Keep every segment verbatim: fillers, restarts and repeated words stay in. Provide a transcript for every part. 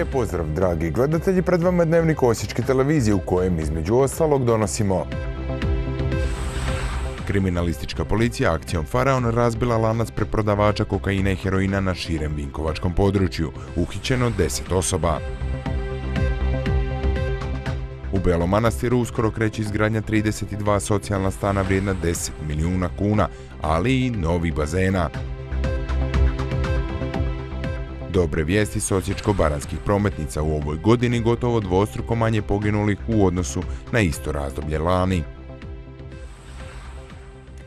Lijep pozdrav, dragi gledatelji, pred vama je Dnevnik Osječke televizije u kojem između ostalog donosimo. Kriminalistička policija akcijom Faraon razbila lanac preprodavača kokaina i heroina na širem vinkovačkom području. Uhićeno deset osoba. U Belom Manastiru uskoro kreće izgradnja trideset dva socijalna stana vrijedna deset milijuna kuna, ali i novi bazena. Dobre vijesti s osječko-baranjskih prometnica, u ovoj godini gotovo dvostruko manje poginulih u odnosu na isto razdoblje lani.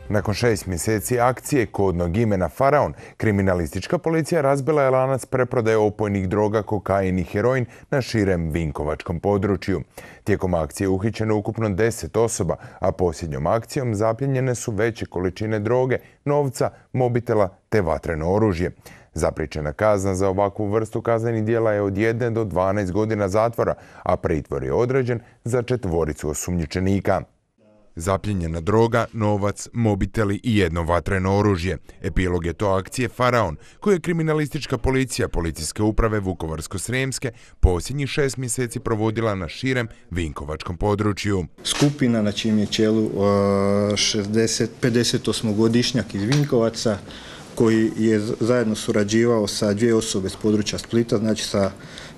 Nakon šest mjeseci akcije kodnog imena Faraon, kriminalistička policija razbila je lanac preprodaje opojnih droga, kokain i heroin na širem vinkovačkom području. Tijekom akcije uhićeno ukupno deset osoba, a posljednjom akcijom zapljenjene su veće količine droge, novca, mobitela te vatreno oružje. Zapriječena kazna za ovakvu vrstu kaznenih djela je od jedne do dvanaest godina zatvora, a pritvor je određen za četvoricu osumnjičenika. Zapljenjena droga, novac, mobiteli i jedno vatreno oružje. Epilog je to akcije Faraon, koju je kriminalistička policija Policijske uprave Vukovarsko-srijemske posljednjih šest mjeseci provodila na širem vinkovačkom području. Skupina na čijem je čelu pedesetosmogodišnjak iz Vinkovaca, koji je zajedno surađivao sa dvije osobe s područja Splita, znači sa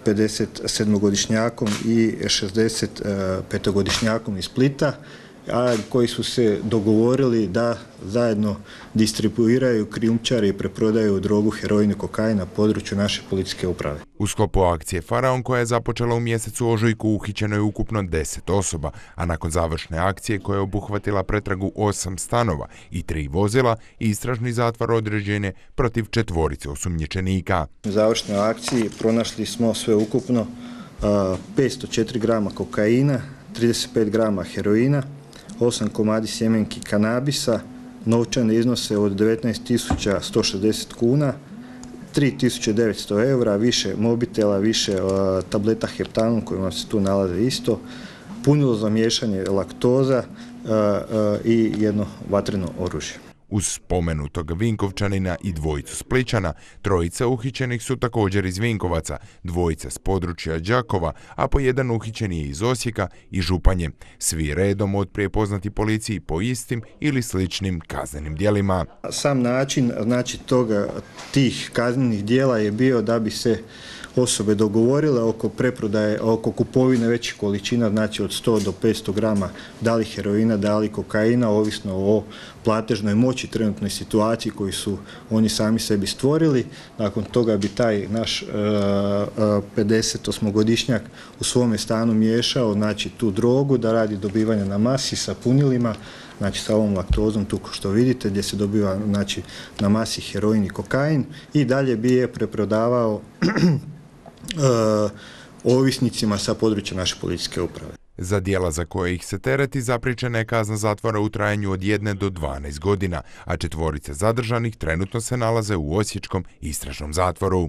pedesetsedmogodišnjakom i šezdesetpetogodišnjakom iz Splita, a koji su se dogovorili da zajedno distribuiraju, krijumčare i preprodaju drogu, heroin i kokain na području naše policijske uprave. U sklopu akcije Faraon, koja je započela u mjesecu ožujku, uhićeno je ukupno deset osoba, a nakon završne akcije koja je obuhvatila pretragu osam stanova i tri vozila, istražni zatvor određen je protiv četvorice osumnjičenika. U završnoj akciji pronašli smo sve ukupno petsto četiri grama kokaina, trideset pet grama heroina, osam komadi sjemenki kanabisa, novčane iznose od devetnaest tisuća sto šezdeset kuna, tri tisuće devetsto eura, više mobitela, više uh, tableta heptanon kojima se tu nalaze isto, punilo za miješanje laktoza uh, uh, i jedno vatreno oružje. Uz spomenutog Vinkovčanina i dvojicu Splićana, trojica uhićenih su također iz Vinkovaca, dvojica s područja Đakova, a po jedan uhićen je iz Osijeka i Županje. Svi redom otprije poznati policiji po istim ili sličnim kaznenim djelima. Sam način, znači, toga, tih kaznenih djela je bio da bi se osobe dogovorile oko preprodaje, oko kupovine većih količina, znači od sto do petsto grama, da li heroina, da li kokaina, ovisno o platežnoj moći, trenutnoj situaciji koju su oni sami sebi stvorili. Nakon toga bi taj naš pedesetosmogodišnjak u svome stanu miješao, znači, tu drogu da radi dobivanja na masi sa punilima, znači sa ovom laktozom tu što vidite, gdje se dobiva, znači, na masi heroin i kokain, i dalje bi je preprodavao Uh, ovisnicima sa područja naše policijske uprave. Za djela za koje ih se tereti zapriječena je kazna zatvora u trajanju od jedne do dvanaest godina, a četvorice zadržanih trenutno se nalaze u osječkom istražnom zatvoru.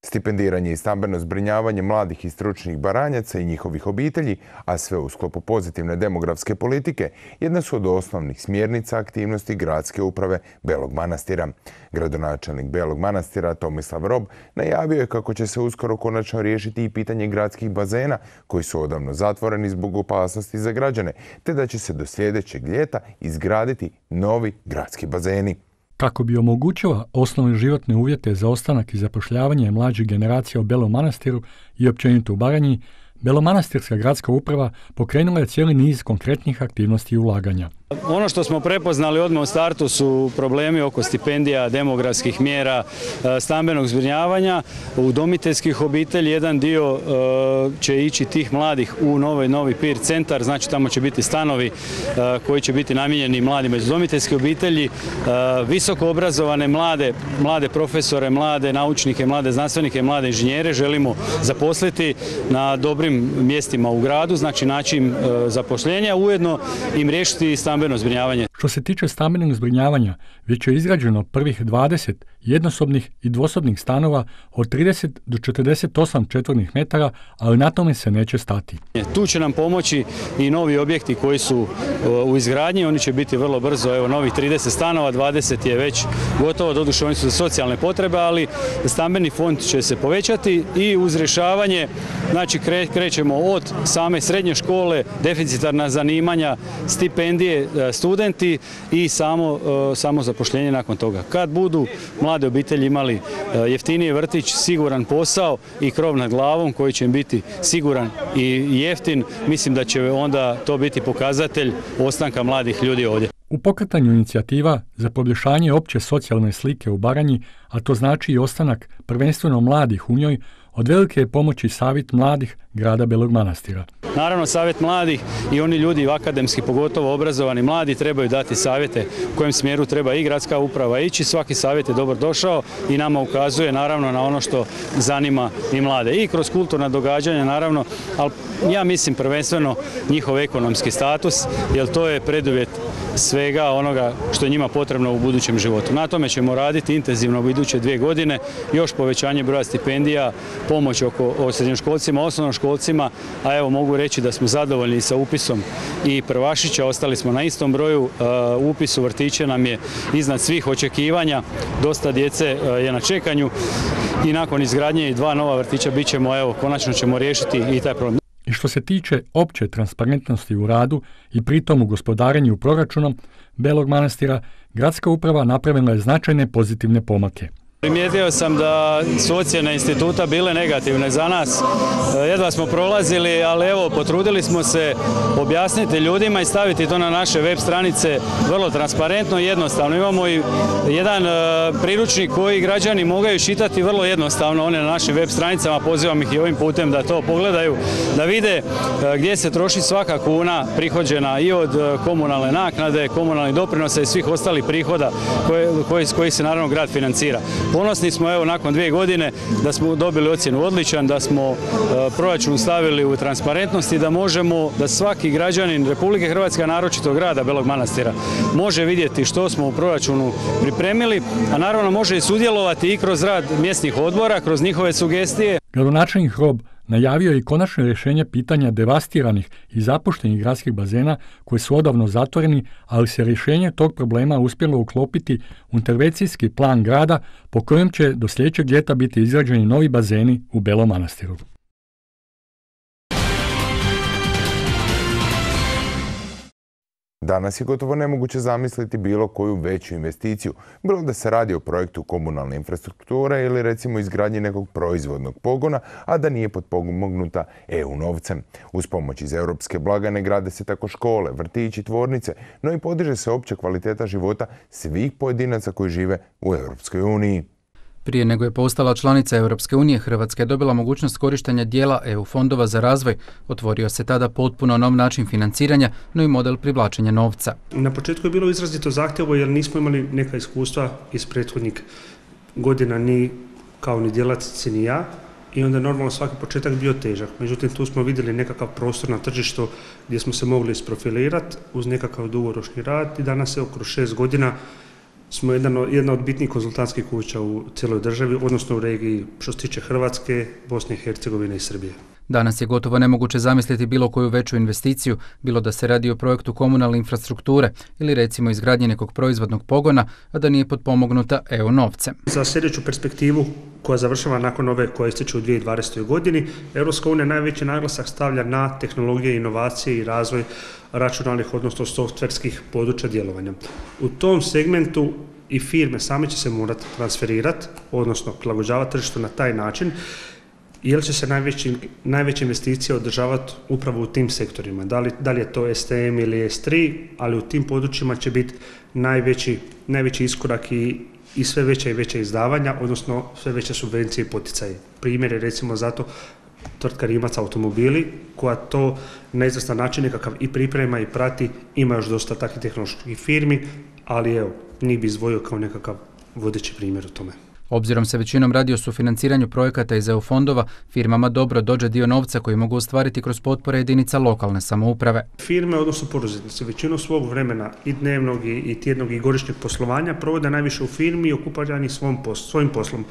Stipendiranje i stambeno zbrinjavanje mladih i stručnih Baranjaca i njihovih obitelji, a sve u sklopu pozitivne demografske politike, jedna su od osnovnih smjernica aktivnosti Gradske uprave Belog Manastira. Gradonačelnik Belog Manastira Tomislav Rob najavio je kako će se uskoro konačno riješiti i pitanje gradskih bazena, koji su odavno zatvoreni zbog opasnosti za građane, te da će se do sljedećeg ljeta izgraditi novi gradski bazeni. Kako bi omogućila osnovne životne uvjete za ostanak i zapošljavanje mlađih generacija u Belom Manastiru i općenito u Baranji, Belomanastirska gradska uprava pokrenula je cijeli niz konkretnih aktivnosti i ulaganja. Ono što smo prepoznali odmah u startu su problemi oko stipendija, demografskih mjera, stambenog zbrinjavanja, udomiteljskih obitelji. Jedan dio će ići tih mladih u novi, novi Pir centar, znači tamo će biti stanovi koji će biti namijenjeni mladima iz udomiteljske obitelji, visoko obrazovane mlade, mlade profesore, mlade naučnike, mlade znanstvenike, mlade inženjere želimo zaposliti na dobrim mjestima u gradu, znači način zapošljenja, ujedno im riješiti stambeno stambeno zbrinjavanje. Što se tiče stambenog zbrinjavanja, već je izgrađeno prvih dvadeset jednosobnih i dvosobnih stanova od trideset do četrdeset osam četvornih metara, ali na tome se neće stati. Tu će nam pomoći i novi objekti koji su u izgradnji, oni će biti vrlo brzo, evo novih trideset stanova, dvadeset je već gotovo, doduše oni su za socijalne potrebe, ali stambeni fond će se povećati i uz rješavanje, znači kre, krećemo od same srednje škole, deficitarna zanimanja, stipendije, studenti i samo, samo zapošljenje nakon toga. Kad budu mlade obitelji imali jeftiniji vrtić, siguran posao i krov nad glavom koji će im biti siguran i jeftin, mislim da će onda to biti pokazatelj ostanka mladih ljudi ovdje. U pokretanju inicijativa za poboljšanje opće socijalne slike u Baranji, a to znači i ostanak prvenstveno mladih u njoj, od velike je pomoći Savjet mladih grada Belog Manastira. Naravno, Savjet mladih i oni ljudi akademski, pogotovo obrazovani mladi, trebaju dati savjete u kojem smjeru treba i gradska uprava ići. Svaki savjet je dobro došao i nama ukazuje naravno na ono što zanima i mlade. I kroz kulturna događanja naravno, ali ja mislim prvenstveno njihov ekonomski status, jer to je preduvjet svega onoga što je njima potrebno u budućem životu. Na tome ćemo raditi intenzivno u iduće dvije godine, još povećanje broja stipendija, pomoć oko srednjoškolcima, osnovnoškolcima, a evo mogu reći da smo zadovoljni sa upisom i prvašića, ostali smo na istom broju, upis u vrtiće nam je iznad svih očekivanja, dosta djece je na čekanju i nakon izgradnje i dva nova vrtića bit ćemo, evo, konačno ćemo riješiti i taj problem. I što se tiče opće transparentnosti u radu i pritom u gospodarenju proračunom Belog Manastira, gradska uprava napravila je značajne pozitivne pomake. Primijetio sam da su ocjene instituta bile negativne za nas. Jedva smo prolazili, ali evo, potrudili smo se objasniti ljudima i staviti to na naše web stranice vrlo transparentno i jednostavno. Imamo i jedan priručnik koji građani mogu čitati vrlo jednostavno, one na našim web stranicama, pozivam ih i ovim putem da to pogledaju, da vide gdje se troši svaka kuna prihođena i od komunalne naknade, komunalnih doprinosa i svih ostalih prihoda koje, koji, koji se naravno grad financira. Ponosni smo evo nakon dvije godine da smo dobili ocjenu odličan, da smo e, proračun stavili u transparentnost i da možemo, da svaki građanin Republike Hrvatske, a naročito grada Belog Manastira, može vidjeti što smo u proračunu pripremili, a naravno može i sudjelovati i kroz rad mjesnih odbora, kroz njihove sugestije. Gradonačelnik Hrob najavio je i konačno rješenje pitanja devastiranih i zapuštenih gradskih bazena koji su odavno zatvoreni, ali se rješenje tog problema uspjelo uklopiti u intervencijski plan grada po kojem će do sljedećeg ljeta biti izgrađeni novi bazeni u Belom Manastiru. Danas je gotovo nemoguće zamisliti bilo koju veću investiciju, bilo da se radi o projektu komunalne infrastrukture ili recimo izgradnji nekog proizvodnog pogona, a da nije potpomognuta E U novcem. Uz pomoć iz europske blagajne grade se tako škole, vrtići, tvornice, no i podiže se opća kvaliteta života svih pojedinaca koji žive u Europskoj uniji. Prije nego je postala članica Europske unije, Hrvatska je dobila mogućnost korištenja dijela E U fondova za razvoj. Otvorio se tada potpuno nov način financiranja, no i model privlačenja novca. Na početku je bilo izrazito zahtjevno jer nismo imali neka iskustva iz prethodnih godina, ni kao ni djelatnici ni ja, i onda normalno svaki početak bio težak. Međutim, tu smo vidjeli nekakav prostor na tržištu gdje smo se mogli isprofilirati uz nekakav dugoročni rad i danas je kroz šest godina smo jedan, jedna od bitnijih konzultantskih kuća u cijeloj državi, odnosno u regiji što se tiče Hrvatske, Bosne i Hercegovine i Srbije. Danas je gotovo nemoguće zamisliti bilo koju veću investiciju, bilo da se radi o projektu komunalne infrastrukture ili recimo izgradnje nekog proizvodnog pogona, a da nije potpomognuta E U novcem. Za sljedeću perspektivu koja završava nakon ove koja ističe u dvije tisuće dvadesetoj. godini, Europska unija najveći naglasak stavlja na tehnologije, inovacije i razvoj računalnih, odnosno softverskih područja djelovanja. U tom segmentu i firme same će se morati transferirati, odnosno prilagođavati tržištu na taj način, jer će se najveći, najveće investicije održavati upravo u tim sektorima. Da li, da li je to S T M ili S tri, ali u tim područjima će biti najveći, najveći iskorak i, i sve veća i veća izdavanja, odnosno sve veće subvencije i poticaje. Primjer je recimo zato tvrtka Rimac automobili, koja to na izvrstan način nekakav i priprema i prati, ima još dosta takvih tehnoloških firmi, ali evo, njih bi izdvojio kao nekakav vodeći primjer u tome. Obzirom se većinom radi o sufinanciranju projekata iz E U fondova, firmama dobro dođe dio novca koji mogu ostvariti kroz potpore jedinica lokalne samouprave. Firme, odnosno poduzetnici, većinu svog vremena i dnevnog i, i tjednog i godišnjeg poslovanja provode najviše u firmi i okupirani svom posl, svojim poslom.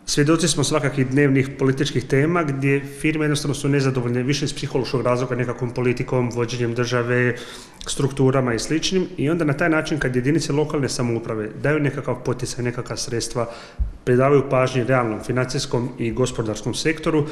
Svjedoci smo svakakih dnevnih političkih tema gdje firme jednostavno su nezadovoljne više iz psihološkog razloga nekakvom politikom, vođenjem države, strukturama i sličnim i onda na taj način kad jedinice lokalne samouprave daju nekakav poticaj, nekakva sredstva, predavaju pažnje realnom financijskom i gospodarskom sektoru,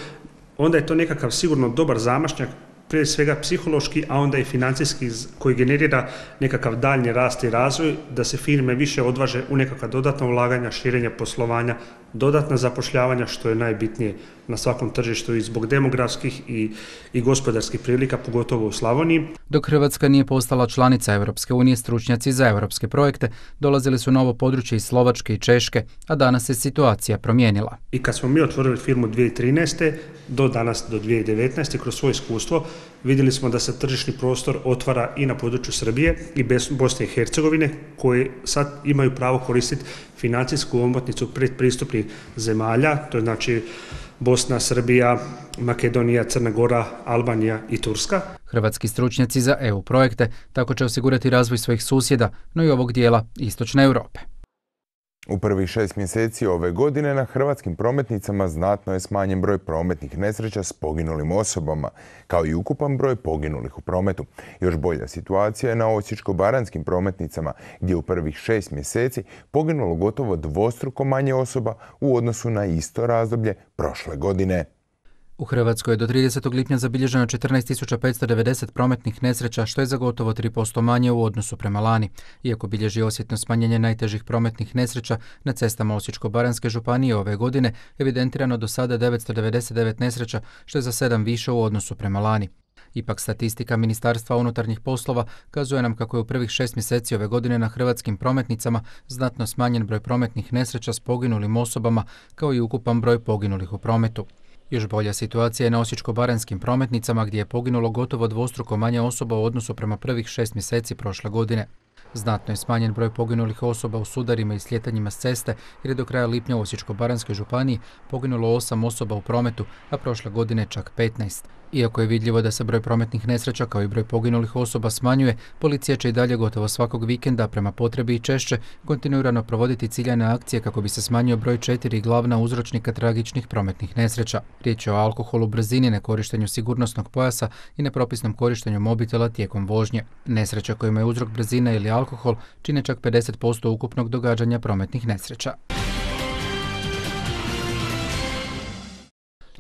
onda je to nekakav sigurno dobar zamašnjak, prije svega psihološki, a onda i financijski koji generira nekakav daljnji rast i razvoj, da se firme više odvaže u nekakva dodatna ulaganja, širenja poslovanja, dodatna zapošljavanja, što je najbitnije na svakom tržištu i zbog demografskih i, i gospodarskih prilika, pogotovo u Slavoniji. Dok Hrvatska nije postala članica Europske unije, stručnjaci za europske projekte dolazili su na ovo područje iz Slovačke i Češke, a danas se situacija promijenila. I kad smo mi otvorili firmu dvije tisuće trinaeste do danas, do dvije tisuće devetnaeste, kroz svoje iskustvo, vidjeli smo da se tržišni prostor otvara i na području Srbije i Bosne i Hercegovine, koji sad imaju pravo koristiti financijsku omotnicu predpristupnih zemalja, to je znači Bosna, Srbija, Makedonija, Crna Gora, Albanija i Turska. Hrvatski stručnjaci za E U projekte tako će osigurati razvoj svojih susjeda, no i ovog dijela istočne Europe. U prvih šest mjeseci ove godine na hrvatskim prometnicama znatno je smanjen broj prometnih nesreća s poginulim osobama, kao i ukupan broj poginulih u prometu. Još bolja situacija je na osječko-baranjskim prometnicama, gdje u prvih šest mjeseci poginulo gotovo dvostruko manje osoba u odnosu na isto razdoblje prošle godine. U Hrvatskoj je do tridesetog lipnja zabilježeno četrnaest tisuća petsto devedeset prometnih nesreća, što je za gotovo tri posto manje u odnosu prema lani. Iako bilježi osjetno smanjenje najtežih prometnih nesreća na cestama Osječko-baranjske županije ove godine, evidentirano do sada devetsto devedeset devet nesreća, što je za sedam više u odnosu prema lani. Ipak statistika Ministarstva unutarnjih poslova kazuje nam kako je u prvih šest mjeseci ove godine na hrvatskim prometnicama znatno smanjen broj prometnih nesreća s poginulim osobama, kao i ukupan broj poginulih u prometu. Još bolja situacija je na osječko-baranjskim prometnicama gdje je poginulo gotovo dvostruko manje osoba u odnosu prema prvih šest mjeseci prošle godine. Znatno je smanjen broj poginulih osoba u sudarima i sljetanjima s ceste jer je do kraja lipnja u Osječko-baranjskoj županiji poginulo osam osoba u prometu, a prošle godine čak petnaest. Iako je vidljivo da se broj prometnih nesreća kao i broj poginulih osoba smanjuje, policija će i dalje gotovo svakog vikenda prema potrebi i češće kontinuirano provoditi ciljane akcije kako bi se smanjio broj četiri glavna uzročnika tragičnih prometnih nesreća. Riječ je o alkoholu, brzini, nekorištenju sigurnosnog pojasa i nepropisnom korištenju mobitela tijekom vožnje. Nesreća kojima je uzrok brzina ili alkohol čine čak pedeset posto ukupnog događanja prometnih nesreća.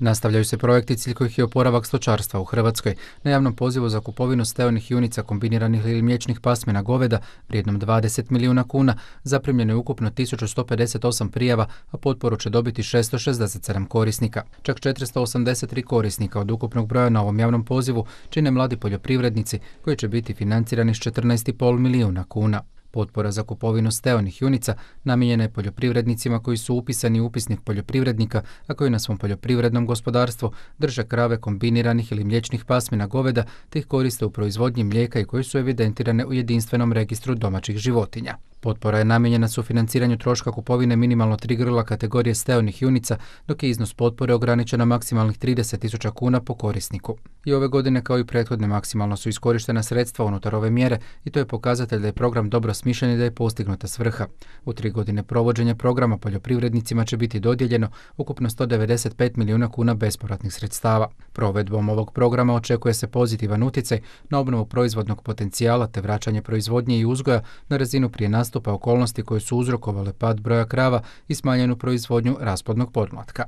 Nastavljaju se projekti cilj kojih je oporavak stočarstva u Hrvatskoj. Na javnom pozivu za kupovinu steonih junica kombiniranih ili mliječnih pasmina goveda vrijednom dvadeset milijuna kuna zaprimljeno je ukupno tisuću sto pedeset osam prijava, a potporu će dobiti šesto šezdeset sedam korisnika. Čak četiristo osamdeset tri korisnika od ukupnog broja na ovom javnom pozivu čine mladi poljoprivrednici koji će biti financirani s četrnaest zarez pet milijuna kuna. Potpora za kupovinu steonih junica namijenjena je poljoprivrednicima koji su upisani u upisnik poljoprivrednika, a koji na svom poljoprivrednom gospodarstvu drže krave kombiniranih ili mliječnih pasmina goveda te ih koriste u proizvodnji mlijeka i koji su evidentirane u jedinstvenom registru domaćih životinja. Potpora je namijenjena sufinanciranju troška kupovine minimalno tri grla kategorije steonih junica, dok je iznos potpore ograničen na maksimalnih trideset tisuća kuna po korisniku. I ove godine kao i prethodne maksimalno su iskorištena sredstva unutar ove mjere i to je pokazatelj da je program dobro smišljen i da je postignuta svrha. U tri godine provođenja programa poljoprivrednicima će biti dodijeljeno ukupno sto devedeset pet milijuna kuna bespovratnih sredstava. Provedbom ovog programa očekuje se pozitivan utjecaj na obnovu proizvodnog potencijala te vraćanje proizvodnje i uzgoja na razinu prije nastupa okolnosti koje su uzrokovale pad broja krava i smanjenu proizvodnju rasplodnog podmlatka.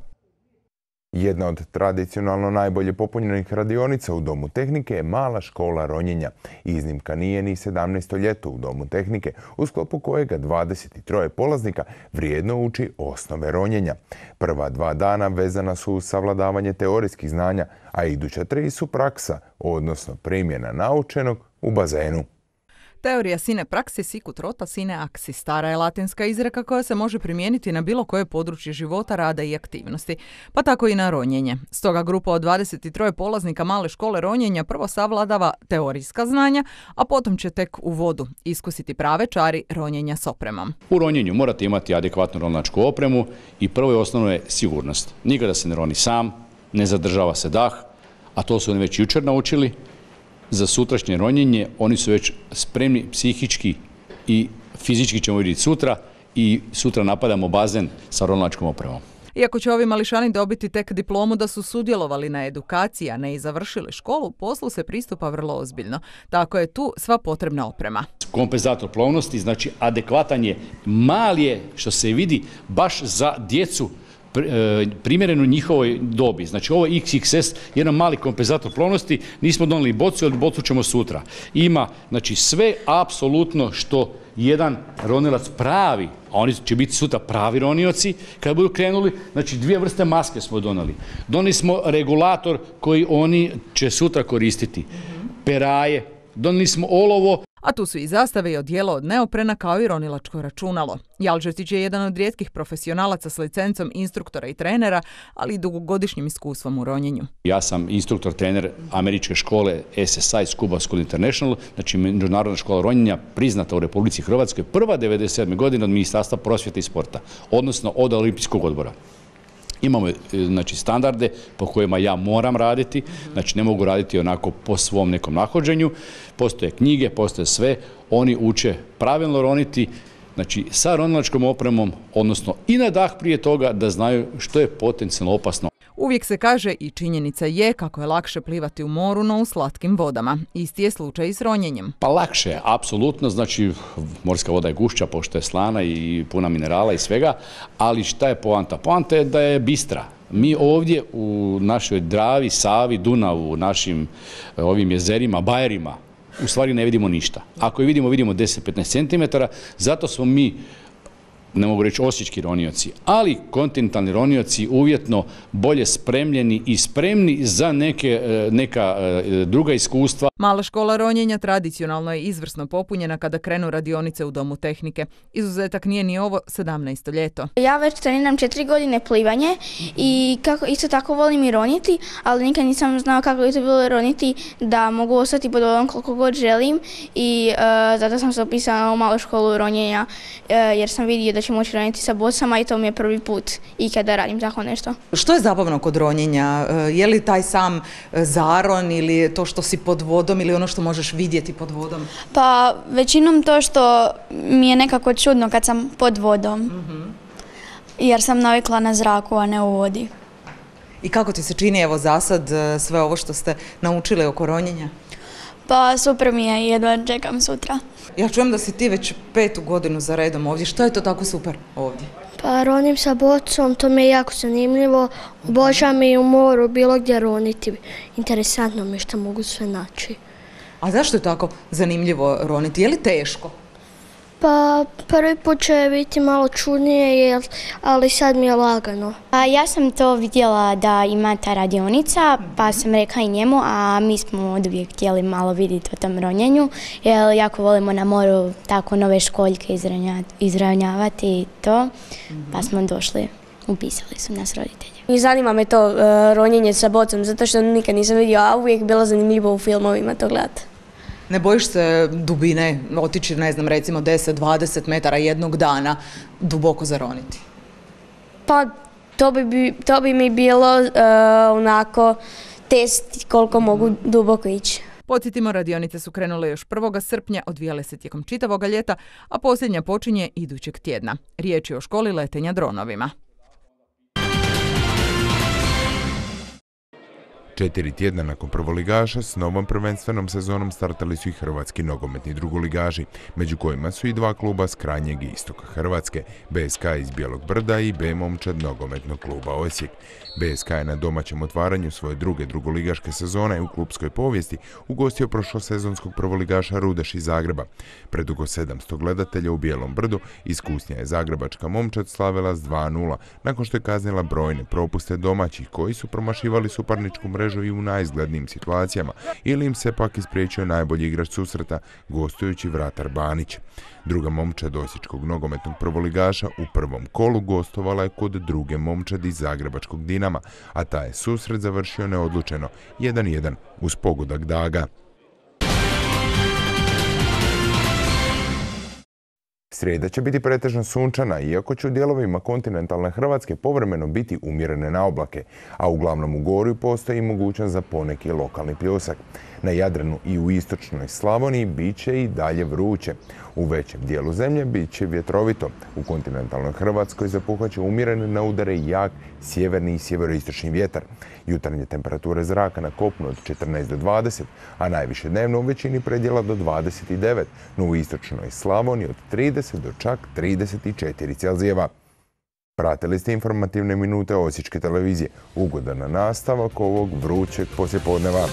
Jedna od tradicionalno najbolje popunjenih radionica u Domu tehnike je mala škola ronjenja. Iznimka nije ni sedamnaesto ljeto u Domu tehnike, u sklopu kojega dvadeset tri polaznika vrijedno uči osnove ronjenja. Prva dva dana vezana su uz savladavanje teorijskih znanja, a iduća tri su praksa, odnosno primjena naučenog u bazenu. Teorija sine praxis sicut rota sine axis stara je latinska izreka koja se može primijeniti na bilo koje područje života, rada i aktivnosti, pa tako i na ronjenje. Stoga grupa od dvadeset tri polaznika male škole ronjenja prvo savladava teorijska znanja, a potom će tek u vodu iskusiti prave čari ronjenja s opremom. U ronjenju morate imati adekvatnu ronilačku opremu i prvo i osnovno je sigurnost. Nikada se ne roni sam, ne zadržava se dah, a to su oni već jučer naučili. Za sutrašnje ronjenje oni su već spremni psihički i fizički, ćemo vidjeti sutra, i sutra napadamo bazen sa ronilačkom opremom. Iako će ovi mališani dobiti tek diplomu da su sudjelovali na edukaciji, a ne i završili školu, poslu se pristupa vrlo ozbiljno. Tako je tu sva potrebna oprema. Kompenzator plovnosti, znači adekvatan je, mali je, što se vidi, baš za djecu primjereno njihovoj dobi. Znači ovo je iks iks es, jedan mali kompenzator plovnosti, nismo donijeli bocu, ali bocu ćemo sutra. Ima, znači, sve apsolutno što jedan ronilac pravi, a oni će biti sutra pravi ronioci, kada budu krenuli, znači dvije vrste maske smo donijeli. Donijeli smo regulator koji oni će sutra koristiti, peraje, donijeli smo olovo. A tu su i zastave i odijelo od neoprena kao i ronilačko računalo. Jalžetić je jedan od rijetkih profesionalaca s licencom instruktora i trenera, ali i dugogodišnjim iskustvom u ronjenju. Ja sam instruktor, trener američke škole S S I, Scuba School International, znači međunarodna škola ronjenja priznata u Republici Hrvatskoj, prva devedeset sedme godine od Ministarstva prosvjete i sporta, odnosno od Olimpijskog odbora. Imamo, znači, standarde po kojima ja moram raditi, znači ne mogu raditi onako po svom nekom nahođenju. Postoje knjige, postoje sve, oni uče pravilno roniti, znači sa ronilačkom opremom, odnosno i na dah prije toga, da znaju što je potencijalno opasno. Uvijek se kaže i činjenica je kako je lakše plivati u moru, no u slatkim vodama. Isti je slučaj i s ronjenjem. Pa lakše je, apsolutno, znači morska voda je gušća pošto je slana i puna minerala i svega, ali šta je poanta? Poanta je da je bistra. Mi ovdje u našoj Dravi, Savi, Dunavu, u našim ovim jezerima, bajerima, u stvari ne vidimo ništa. Ako je vidimo, vidimo deset do petnaest centimetara, zato smo mi, ne mogu reći osječki ronioci, ali kontinentalni ronioci uvjetno bolje spremljeni i spremni za neke, neka druga iskustva. Mala škola ronjenja tradicionalno je izvrsno popunjena kada krenu radionice u Domu tehnike. Izuzetak nije ni ovo sedamnaesto ljeto. Ja već treniram četiri godine plivanje i kako, isto tako volim i roniti, ali nikad nisam znao kako je to bilo roniti da mogu ostati pod vodom koliko god želim i uh, zato sam se upisala u malu školu ronjenja uh, jer sam vidio da ću moći roniti sa bocama i to mi je prvi put i kada radim tako nešto. Što je zabavno kod ronjenja? Je li taj sam zaron ili to što si pod vodom ili ono što možeš vidjeti pod vodom? Pa većinom to što mi je nekako čudno kad sam pod vodom, mm-hmm. jer sam navikla na zraku, a ne u vodi. I kako ti se čini evo za sad sve ovo što ste naučili oko ronjenja? Pa super mi je i jedva čekam sutra. Ja čujem da si ti već petu godinu za redom ovdje. Što je to tako super ovdje? Pa ronim sa bocom, to mi je jako zanimljivo. Obožavam i u moru bilo gdje roniti. Interesantno mi je što mogu sve naći. A zašto je tako zanimljivo roniti? Je li teško? Pa prvi put će biti malo čudnije, ali sad mi je lagano. A ja sam to vidjela da ima ta radionica, pa sam rekla i njemu, a mi smo od uvijek htjeli malo vidjeti o tom ronjenju, jer jako volimo na moru tako nove školjke izravnjavati i to, pa smo došli, upisali su nas roditelji. I zanima me to uh, ronjenje sa bocom, zato što nikad nisam vidio, a uvijek bilo zanimljivo u filmovima to gledati. Ne bojiš se dubine, otići, ne znam, recimo deset do dvadeset metara jednog dana duboko zaroniti? Pa to bi, to bi mi bilo uh, onako test koliko mogu duboko ići. Podsjetimo, radionice su krenule još prvog srpnja, odvijale se tijekom čitavog ljeta, a posljednja počinje idućeg tjedna. Riječ je o školi letenja dronovima. Četiri tjedna nakon prvoligaša s novom prvenstvenom sezonom startali su i hrvatski nogometni drugoligaši, među kojima su i dva kluba s krajnjeg istoka Hrvatske, B S K iz Bijelog Brda i B Momčad nogometnog kluba Osijek. B S K je na domaćem otvaranju svoje druge drugoligaške sezone u klubskoj povijesti ugostio prošlosezonskog prvoligaša Rudeš iz Zagreba. Pred oko sedamsto gledatelja u Bijelom Brdu iskusnija je zagrebačka Momčad slavila s dva nula, nakon što je kaznila brojne propuste domaćih koji su promašivali suparničku mrežu mrežu i u najizglednijim situacijama, ili im se pak ispriječio najbolji igrač susreta, gostujući vratar Banić. Druga momčad osječkog nogometnog prvoligaša u prvom kolu gostovala je kod druge momčadi zagrebačkog Dinama, a taj je susret završio neodlučeno jedan jedan uz pogodak Daga. Srijeda će biti pretežno sunčana, iako će u dijelovima kontinentalne Hrvatske povremeno biti umjerene na oblake, a uglavnom u Gorju postoji mogućnost za poneki lokalni pljusak. Na Jadranu i u istočnoj Slavoniji bit će i dalje vruće. U većem dijelu zemlje bit će vjetrovito. U kontinentalnoj Hrvatskoj zapuhat će umjereni na udare jak sjeverni i sjeveroistočni vjetar. Jutarnje temperature zraka na kopnu od četrnaest do dvadeset, a najviše dnevno u većini predjela do dvadeset devet, no u istočnoj Slavoniji od trideset do čak trideset četiri Celzijeva. Pratili ste informativne minute Osječke televizije. Ugodan nastavak ovog vrućeg poslijepodneva.